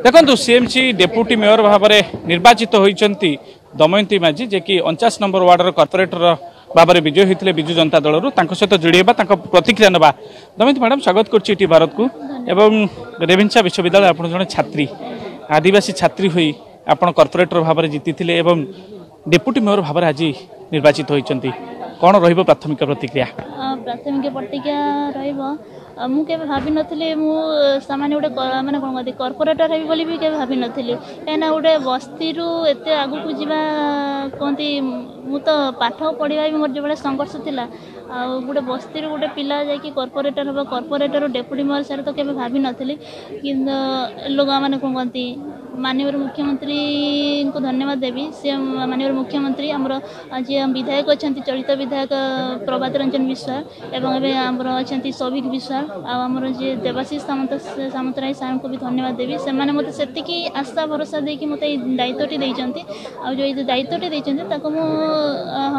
ଦେଖନ୍ତୁ, CMC deputy mayor ଭାବରେ ନିର୍ବାଚିତ ହୋଇଛନ୍ତି ଦମୟନ୍ତୀ ମାଝୀ, ଯିଏକି 49 ନମ୍ବର ୱାର୍ଡର କର୍ପୋରେଟର ଭାବରେ ବିଜୟୀ ହୋଇଥିଲେ ବିଜୁ ଜନତା ଦଳରୁ। ତାଙ୍କ ସହିତ ଯୋଡ଼ି ହେବା, ତାଙ୍କ ପ୍ରତିକ୍ରିୟା ନେବା। ଦମୟନ୍ତୀ ମ୍ୟାଡ଼ାମ, ସ୍ୱାଗତ କରୁଛି ଇଟି ଭାରତକୁ। ଏବଂ ରେଭେନ୍ସା ବିଶ୍ୱବିଦ୍ୟାଳୟ ଆପଣ ଜଣେ ଛାତ୍ରୀ, ଆଦିବାସୀ ଛାତ୍ରୀ ହୋଇ ଆପଣ କର୍ପୋରେଟର ଭାବରେ ଜିତିଥିଲେ ଏବଂ ଡେପୁଟି ମେୟର ଭାବରେ ଆଜି ନିର୍ବାଚିତ ହୋଇଛନ୍ତି। କ'ଣ ରହିବ ପ୍ରାଥମିକ ପ୍ରତିକ୍ରିୟା? ପ୍ରାଥମିକ ପ୍ରତିକ୍ରିୟା ରହିବ, ମୁଁ କେବେ ଭାବିନଥିଲି ମୁଁ ସାମାନ୍ୟ ଗୋଟେ ମାନେ କ'ଣ କହନ୍ତି, କର୍ପୋରେଟର ହେବି ବୋଲି ବି କେବେ ଭାବିନଥିଲି। କାହିଁକିନା ଗୋଟେ ବସ୍ତିରୁ ଏତେ ଆଗକୁ ଯିବା କୁହନ୍ତି, ମୁଁ ତ ପାଠ ପଢ଼ିବା ବି ମୋର ଯେଉଁଭଳିଆ ସଂଘର୍ଷ ଥିଲା, ଆଉ ଗୋଟେ ବସ୍ତିରୁ ଗୋଟେ ପିଲା ଯାଇକି କର୍ପୋରେଟର ହେବ, କର୍ପୋରେଟରରୁ ଡେପୁଟି ମେୟର, ସେଇଟା ତ କେବେ ଭାବିନଥିଲି। କିନ୍ତୁ ଲୋକମାନେ କ'ଣ କହନ୍ତି, ମାନ୍ୟବର ମୁଖ୍ୟମନ୍ତ୍ରୀଙ୍କୁ ଧନ୍ୟବାଦ ଦେବି। ସେ ମାନ୍ୟବର ମୁଖ୍ୟମନ୍ତ୍ରୀ, ଆମର ଯିଏ ବିଧାୟକ ଅଛନ୍ତି, ଚଳିତ ବିଧାୟକ ପ୍ରଭାତ ରଞ୍ଜନ ବିଶ୍ୱାଳ, ଏବଂ ଏବେ ଆମର ଅଛନ୍ତି ସୌଭିକ ବିଶ୍ୱାଳ, ଆଉ ଆମର ଯିଏ ଦେବାଶିଷ ସାମନ୍ତ ସାମନ୍ତରାୟ ସାର୍ଙ୍କୁ ବି ଧନ୍ୟବାଦ ଦେବି। ସେମାନେ ମୋତେ ସେତିକି ଆଶା ଭରସା ଦେଇକି ମୋତେ ଏଇ ଦାୟିତ୍ୱଟି ଦେଇଛନ୍ତି, ଆଉ ଯେଉଁ ଏଇ ଦାୟିତ୍ୱଟି ଦେଇଛନ୍ତି ତାକୁ ମୁଁ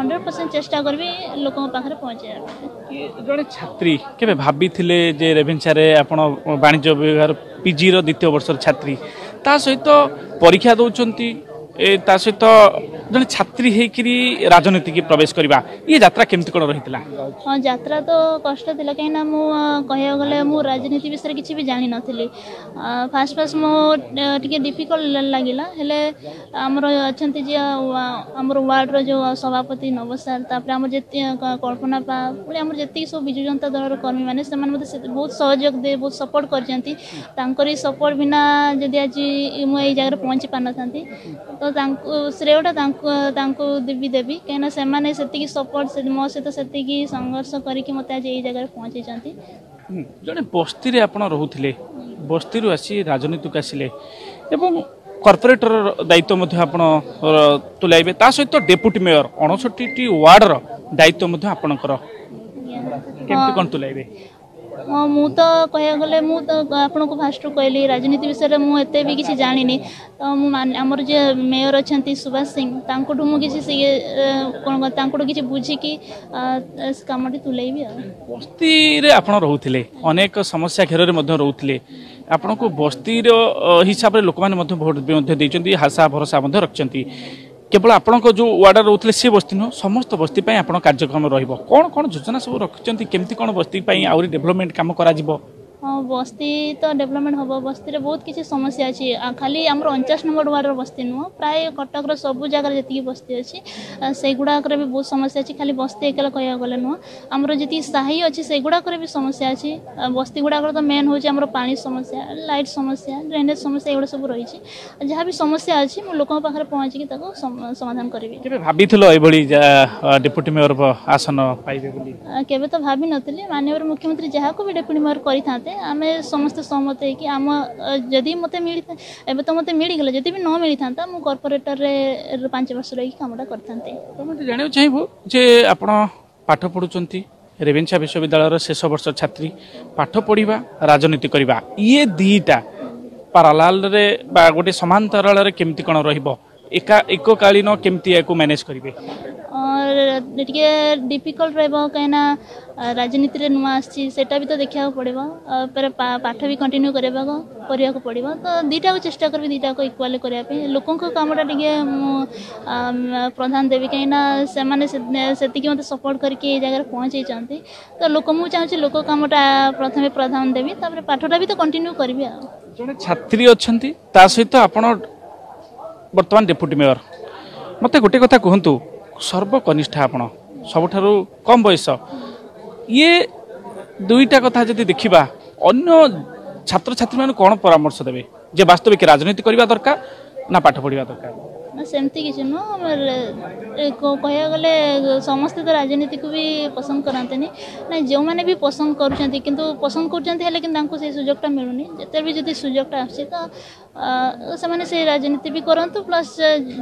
100% ଚେଷ୍ଟା କରିବି ଲୋକଙ୍କ ପାଖରେ ପହଞ୍ଚାଇବା ପାଇଁ। ଜଣେ ଛାତ୍ରୀ କେବେ ଭାବିଥିଲେ ଯେ ରେଭେନ୍ସାରେ ଆପଣ ବାଣିଜ୍ୟ ବିଭାଗ ପିଜିର ଦ୍ୱିତୀୟ ବର୍ଷର ଛାତ୍ରୀ, ତା ସହିତ ପରୀକ୍ଷା ଦେଉଛନ୍ତି, ତା ସହିତ ଜଣେ ଛାତ୍ରୀ ହେଇକିରି ରାଜନୀତିକି ପ୍ରବେଶ କରିବା, ଇଏ ଯାତ୍ରା କେମିତି କ'ଣ ରହିଥିଲା? ହଁ, ଯାତ୍ରା ତ କଷ୍ଟ ଥିଲା, କାହିଁକିନା ମୁଁ କହିବାକୁ ଗଲେ ମୁଁ ରାଜନୀତି ବିଷୟରେ କିଛି ବି ଜାଣିନଥିଲି। ଫାଷ୍ଟ ଫାଷ୍ଟ ମୁଁ ଟିକେ ଡିଫିକଲ୍ଟ ଲାଗିଲା। ହେଲେ ଆମର ଅଛନ୍ତି ଯିଏ ଆମର ୱାର୍ଡ଼ର ଯେଉଁ ସଭାପତି ନବ ସାର୍, ତାପରେ ଆମର ଯେତେ କଳ୍ପନା ପା ଭଳି ଆମର ଯେତିକି ସବୁ ବିଜୁ ଜନତା ଦଳର କର୍ମୀମାନେ, ସେମାନେ ମୋତେ ବହୁତ ସହଯୋଗ ଦେଇ ବହୁତ ସପୋର୍ଟ କରିଛନ୍ତି। ତାଙ୍କରି ସପୋର୍ଟ ବିନା ଯଦି ଆଜି ମୁଁ ଏଇ ଜାଗାରେ ପହଞ୍ଚି ପାରିନଥାନ୍ତି। ତ ତାଙ୍କୁ ଶ୍ରେୟଟା ତାଙ୍କୁ ବି ଦେବି, କାହିଁକିନା ସେମାନେ ସେତିକି ସପୋର୍ଟ, ମୋ ସହିତ ସେତିକି ସଂଘର୍ଷ କରିକି ମୋତେ ଆଜି ଏଇ ଜାଗାରେ ପହଞ୍ଚେଇଛନ୍ତି। ଜଣେ ବସ୍ତିରେ ଆପଣ ରହୁଥିଲେ, ବସ୍ତିରୁ ଆସି ରାଜନୀତିକୁ ଆସିଲେ ଏବଂ କର୍ପୋରେଟର ଦାୟିତ୍ୱ ମଧ୍ୟ ଆପଣ ତୁଲାଇବେ, ତା ସହିତ ଡେପୁଟି ମେୟର 59ଟି ୱାର୍ଡର ଦାୟିତ୍ୱ ମଧ୍ୟ ଆପଣଙ୍କର, କେମିତି କ'ଣ ତୁଲାଇବେ? ହଁ, ମୁଁ ତ କହିବାକୁ ଗଲେ ମୁଁ ତ ଆପଣଙ୍କୁ ଫାଷ୍ଟରୁ କହିଲି, ରାଜନୀତି ବିଷୟରେ ମୁଁ ଏତେ ବି କିଛି ଜାଣିନି। ତ ମୁଁ ଆମର ଯିଏ ମେୟର ଅଛନ୍ତି ସୁଭାଷ ସିଂ, ତାଙ୍କଠୁ ମୁଁ କିଛି କ'ଣ ତାଙ୍କଠୁ କିଛି ବୁଝିକି କାମଟି ତୁଲେଇବି। ଆଉ ବସ୍ତିରେ ଆପଣ ରହୁଥିଲେ, ଅନେକ ସମସ୍ୟା ଘେରରେ ମଧ୍ୟ ରହୁଥିଲେ, ଆପଣଙ୍କୁ ବସ୍ତିର ହିସାବରେ ଲୋକମାନେ ମଧ୍ୟ ଭୋଟ ମଧ୍ୟ ଦେଇଛନ୍ତି, ଆଶା ଭରସା ମଧ୍ୟ ରଖିଛନ୍ତି। କେବଳ ଆପଣଙ୍କ ଯେଉଁ ୱାର୍ଡ଼ରେ ରହୁଥିଲେ ସେ ବସ୍ତି ନୁହଁ, ସମସ୍ତ ବସ୍ତି ପାଇଁ ଆପଣ କାର୍ଯ୍ୟକ୍ରମ ରହିବ। କ'ଣ କ'ଣ ଯୋଜନା ସବୁ ରଖିଛନ୍ତି, କେମିତି କ'ଣ ବସ୍ତି ପାଇଁ ଆହୁରି ଡେଭଲପମେଣ୍ଟ କାମ କରାଯିବ? ହଁ, ବସ୍ତି ତ ଡେଭଲପମେଣ୍ଟ ହେବ। ବସ୍ତିରେ ବହୁତ କିଛି ସମସ୍ୟା ଅଛି। ଖାଲି ଆମର 49 ନମ୍ବର ୱାର୍ଡ଼ର ବସ୍ତି ନୁହଁ, ପ୍ରାୟ କଟକର ସବୁ ଜାଗାରେ ଯେତିକି ବସ୍ତି ଅଛି ସେଇଗୁଡ଼ାକରେ ବି ବହୁତ ସମସ୍ୟା ଅଛି। ଖାଲି ବସ୍ତି ଏକଲା କହିବାକୁ ଗଲେ ନୁହଁ, ଆମର ଯେତିକି ସାହି ଅଛି ସେଗୁଡ଼ାକରେ ବି ସମସ୍ୟା ଅଛି। ବସ୍ତି ଗୁଡ଼ାକରେ ତ ମେନ୍ ହେଉଛି ଆମର ପାଣି ସମସ୍ୟା, ଲାଇଟ୍ ସମସ୍ୟା, ଡ୍ରେନେଜ୍ ସମସ୍ୟା, ଏଗୁଡ଼ା ସବୁ ରହିଛି। ଯାହା ବି ସମସ୍ୟା ଅଛି ମୁଁ ଲୋକଙ୍କ ପାଖରେ ପହଞ୍ଚିକି ତାକୁ ସମାଧାନ କରିବି। କେବେ ଭାବିଥିଲ ଏଭଳି ଡେପୁଟି ମେୟର ଆସନ ପାଇବେ ବୋଲି? କେବେ ତ ଭାବିନଥିଲି। ମାନ୍ୟବର ମୁଖ୍ୟମନ୍ତ୍ରୀ ଯାହାକୁ ବି ଡେପୁଟି ମେୟର କରିଥାନ୍ତେ, ଆମେ ସମସ୍ତେ ସହମତ ହେଇକି ଆମ ଯଦି ମୋତେ ମିଳିଥା, ଏବେ ତ ମୋତେ ମିଳିଗଲା, ଯଦି ବି ନ ମିଳିଥାନ୍ତା ମୁଁ କର୍ପୋରେଟରରେ 5 ବର୍ଷ ରହିକି କାମଟା କରିଥାନ୍ତି। ଆମେ ଜାଣିବାକୁ ଚାହିଁବୁ ଯେ ଆପଣ ପାଠ ପଢ଼ୁଛନ୍ତି, ରେଭେନ୍ସା ବିଶ୍ୱବିଦ୍ୟାଳୟର ଶେଷ ବର୍ଷ ଛାତ୍ରୀ, ପାଠ ପଢ଼ିବା, ରାଜନୀତି କରିବା, ଇଏ ଦୁଇଟା ପାରାଲାଲରେ ବା ଗୋଟେ ସମାନ୍ତରାଳରେ କେମିତି କ'ଣ ରହିବ, ଏକା ଏକକାଳୀନ କେମିତି ଏହାକୁ ମ୍ୟାନେଜ୍ କରିବେ? ଟିକେ ଡିଫିକଲ୍ଟ ରହିବ, କାହିଁକିନା ରାଜନୀତିରେ ନୂଆ ଆସିଛି, ସେଇଟା ବି ତ ଦେଖିବାକୁ ପଡ଼ିବ, ପାଠ ବି କଣ୍ଟିନ୍ୟୁ କରିବାକୁ ପଡ଼ିବ। ତ ଦୁଇଟାକୁ ଚେଷ୍ଟା କରିବି ଦୁଇଟାକୁ ଇକ୍ୱାଲି କରିବା ପାଇଁ। ଲୋକଙ୍କ କାମଟା ଟିକେ ମୁଁ ପ୍ରଧାନ ଦେବି, କାହିଁକିନା ସେମାନେ ସେତିକି ମୋତେ ସପୋର୍ଟ କରିକି ଏଇ ଜାଗାରେ ପହଞ୍ଚେଇଛନ୍ତି। ତ ଲୋକ, ମୁଁ ଚାହୁଁଛି ଲୋକ କାମଟା ପ୍ରଥମେ ପ୍ରଧାନ ଦେବି, ତାପରେ ପାଠଟା ବି ତ କଣ୍ଟିନ୍ୟୁ କରିବି। ଆଉ ଜଣେ ଛାତ୍ରୀ ଅଛନ୍ତି, ତା ସହିତ ଆପଣ ବର୍ତ୍ତମାନ ଡେପୁଟି ମେୟର। ମୋତେ ଗୋଟେ କଥା କୁହନ୍ତୁ, ସର୍ବକନିଷ୍ଠ ଆପଣ, ସବୁଠାରୁ କମ୍ ବୟସ, ଇଏ ଦୁଇଟା କଥା ଯଦି ଦେଖିବା, ଅନ୍ୟ ଛାତ୍ରଛାତ୍ରୀମାନଙ୍କୁ କ'ଣ ପରାମର୍ଶ ଦେବେ ଯେ ବାସ୍ତବିକ ରାଜନୀତି କରିବା ଦରକାର ନା ପାଠ ପଢ଼ିବା ଦରକାର? ନା, ସେମିତି କିଛି ନୁହଁ। କହିବାକୁ ଗଲେ ସମସ୍ତେ ତ ରାଜନୀତିକୁ ବି ପସନ୍ଦ କରନ୍ତିନି। ନାଇଁ, ଯେଉଁମାନେ ବି ପସନ୍ଦ କରୁଛନ୍ତି, କିନ୍ତୁ ପସନ୍ଦ କରୁଛନ୍ତି ହେଲେ କିନ୍ତୁ ତାଙ୍କୁ ସେଇ ସୁଯୋଗଟା ମିଳୁନି। ଯେତେବେଳେ ବି ଯଦି ସୁଯୋଗଟା ଆସୁଛି ତ ସେମାନେ ସେଇ ରାଜନୀତି ବି କରନ୍ତୁ, ପ୍ଲସ୍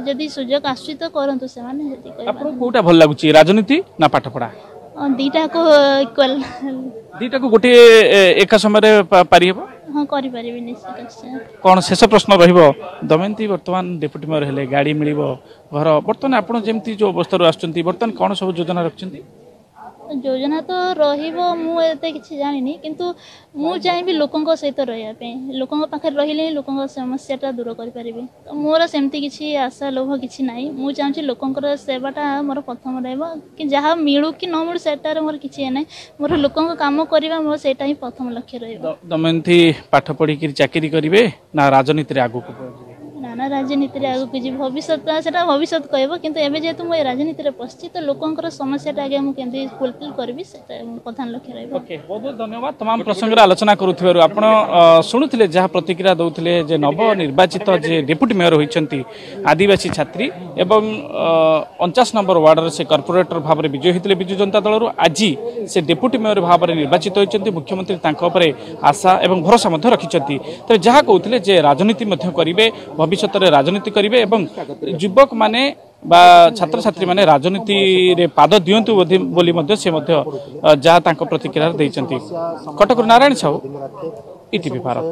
ଯଦି ସୁଯୋଗ ଆସୁଛି ତ କରନ୍ତୁ ସେମାନେ। ସେତିକି। ଆପଣଙ୍କୁ କୋଉଟା ଭଲ ଲାଗୁଛି, ରାଜନୀତି ନା ପାଠପଢ଼ା? ଦୁଇଟାକୁ ଇକ୍ୱାଲ୍। ଦୁଇଟାକୁ ଗୋଟିଏ ଏକା ସମୟରେ ପାରିହେବ? ହଁ, କରିପାରିବି ନିଶ୍ଚିତ। କ'ଣ ଶେଷ ପ୍ରଶ୍ନ ରହିବ ଦମୟନ୍ତୀ, ବର୍ତ୍ତମାନ ଡେପୁଟି ମେୟର ହେଲେ ଗାଡ଼ି ମିଳିବ, ଘର, ବର୍ତ୍ତମାନ ଆପଣ ଯେମିତି ଯେଉଁ ଅବସ୍ଥାରୁ ଆସୁଛନ୍ତି, ବର୍ତ୍ତମାନ କ'ଣ ସବୁ ଯୋଜନା ରଖିଛନ୍ତି? ଯୋଜନା ତ ରହିବ, ମୁଁ ଏତେ କିଛି ଜାଣିନି, କିନ୍ତୁ ମୁଁ ଚାହିଁବି ଲୋକଙ୍କ ସହିତ ରହିବା ପାଇଁ। ଲୋକଙ୍କ ପାଖରେ ରହିଲେ ହିଁ ଲୋକଙ୍କ ସମସ୍ୟାଟା ଦୂର କରିପାରିବି। ତ ମୋର ସେମିତି କିଛି ଆଶା ଲୋଭ କିଛି ନାହିଁ। ମୁଁ ଚାହୁଁଛି ଲୋକଙ୍କର ସେବାଟା ମୋର ପ୍ରଥମ ରହିବ, କି ଯାହା ମିଳୁ କି ନ ମିଳୁ ସେଟାରେ ମୋର କିଛି ଇଏ ନାହିଁ। ମୋର ଲୋକଙ୍କ କାମ କରିବା, ମୋର ସେଇଟା ହିଁ ପ୍ରଥମ ଲକ୍ଷ୍ୟ ରହିବ। ଦମୟନ୍ତୀ, ପାଠ ପଢ଼ିକିରି ଚାକିରି କରିବେ ନା ରାଜନୀତିରେ ଆଗକୁ ଯିବେ? ନା ନା, ରାଜନୀତିରେ ଆଗକୁ ଯିବି। ଭବିଷ୍ୟତ ସେଟା ଭବିଷ୍ୟତ କହିବ, କିନ୍ତୁ ଏବେ ଯେହେତୁ ମୁଁ ଏ ରାଜନୀତିରେ ପଶିଛି, ତ ଲୋକଙ୍କର ସମସ୍ୟାଟା ଆଗେ ମୁଁ କେମିତି ଫୁଲଫିଲ୍ କରିବି, ସେଟା ପ୍ରଧାନ ଲକ୍ଷ୍ୟ ରହିବ। ଓକେ, ବହୁତ ବହୁତ ଧନ୍ୟବାଦ ତମାମ ପ୍ରସଙ୍ଗରେ ଆଲୋଚନା କରୁଥିବାରୁ। ଆପଣ ଶୁଣୁଥିଲେ ଯାହା ପ୍ରତିକ୍ରିୟା ଦେଉଥିଲେ ଯେ ନବ ନିର୍ବାଚିତ ଯେ ଡେପୁଟି ମେୟର ହୋଇଛନ୍ତି ଆଦିବାସୀ ଛାତ୍ରୀ ଏବଂ 49 ନମ୍ବର ୱାର୍ଡରେ ସେ କର୍ପୋରେଟର ଭାବରେ ବିଜୟୀ ହୋଇଥିଲେ ବିଜୁ ଜନତା ଦଳରୁ। ଆଜି ସେ ଡେପୁଟି ମେୟର ଭାବରେ ନିର୍ବାଚିତ ହୋଇଛନ୍ତି। ମୁଖ୍ୟମନ୍ତ୍ରୀ ତାଙ୍କ ଉପରେ ଆଶା ଏବଂ ଭରସା ମଧ୍ୟ ରଖିଛନ୍ତି। ତେବେ ଯାହା କହୁଥିଲେ ଯେ ରାଜନୀତି ମଧ୍ୟ କରିବେ, ଭବିଷ୍ୟତରେ ରାଜନୀତି କରିବେ ଏବଂ ଯୁବକମାନେ ବା ଛାତ୍ରଛାତ୍ରୀମାନେ ରାଜନୀତିରେ ପାଦ ଦିଅନ୍ତୁ ବୋଲି ମଧ୍ୟ ସେ ମଧ୍ୟ ଯାହା ତାଙ୍କ ପ୍ରତିକ୍ରିୟାରେ ଦେଇଛନ୍ତି। କଟକରୁ ନାରାୟଣ ସାହୁ, ଇଟିଭି ଭାରତ।